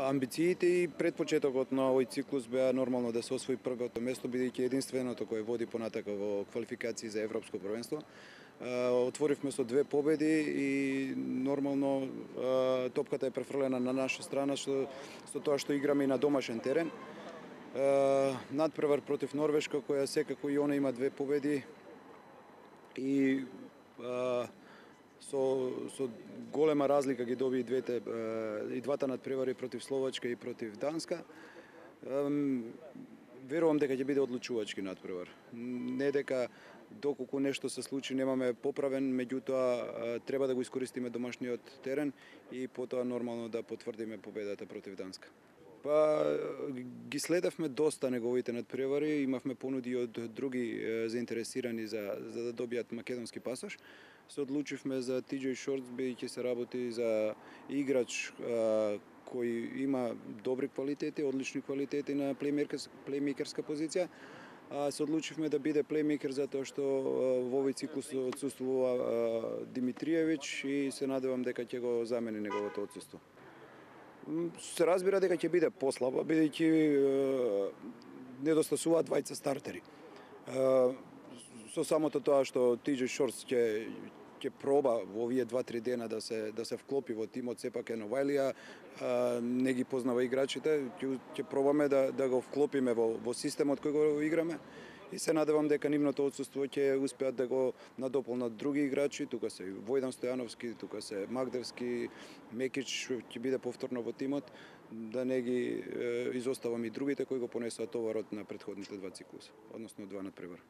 Амбициите и предпочетокот на овој циклус беа нормално да се освои првото место, бидејќи единственото кое води понатака во квалификации за Европско првенство. Отворивме со 2 победи и нормално топката е префрлена на наша страна со тоа што играме и на домашен терен. Надпревар против Норвешка, која секако и она има 2 победи и со голема разлика ги доби и двата надпревари против Словачка и против Данска. Верувам дека ќе биде одлучувачки надпревар. Не дека доколку нешто се случи немаме поправен, меѓутоа треба да го искористиме домашниот терен и потоа нормално да потврдиме победата против Данска. Ги следевме доста неговите надпревари, имавме понуди од други заинтересирани за да добијат македонски пасош. Се одлучивме за TJ Shorts, бидејќи се работи за играч кој има добри квалитети, одлични квалитети на плеймейкерска позиција. Се одлучивме да биде плеймейкер затоа што во овој циклус отсуствува Димитриевич и се надевам дека ќе го замени неговото отсуство. Се разбира дека ќе биде послаба, бидејќи недостасуваат двајца стартери. Со самото тоа што TJ Shorts ќе проба во овие 2-3 дена да се вклопи во тимот, сепак е новајлија, не ги познава играчите, ќе пробаме да го вклопиме во системот кој го играме и се надевам дека нивното отсуство ќе успеат да го надополнат други играчи, тука се Војдан Стојановски, тука се Магдевски, Мекич ќе биде повторно во тимот, да не ги изоставам и другите кои го понесоа товарот на претходните 2 циклуса, односно 2 надпревара.